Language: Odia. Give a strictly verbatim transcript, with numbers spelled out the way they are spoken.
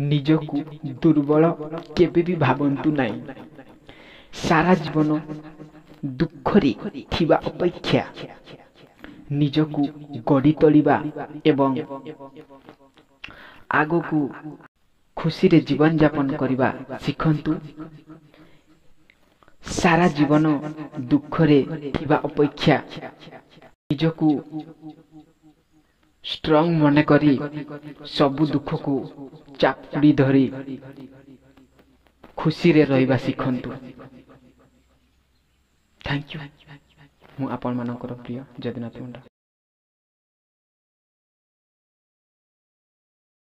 ନିଜକୁ ଦୁର୍ବଳ କେବେ ବି ଭାବନ୍ତୁ ନାହିଁ। ସାରା ଜୀବନ ଦୁଃଖରେ ଥିବା ଅପେକ୍ଷା ନିଜକୁ ଗଢ଼ି ତୋଳିବା ଏବଂ ଆଗକୁ ଖୁସିରେ ଜୀବନଯାପନ କରିବା ଶିଖନ୍ତୁ। ସାରା ଜୀବନ ଦୁଃଖରେ ଥିବା ଅପେକ୍ଷା ନିଜକୁ ଷ୍ଟ୍ରଙ୍ଗ ମନେକରି ସବୁ ଦୁଃଖକୁ ଚାପୁଡ଼ି ଧରି ଖୁସିରେ ରହିବା ଶିଖନ୍ତୁ। Thank you. ମୁଁ ଆପଣମାନଙ୍କର ପ୍ରିୟ ଯଦୁନାଥ ମୁଣ୍ଡା।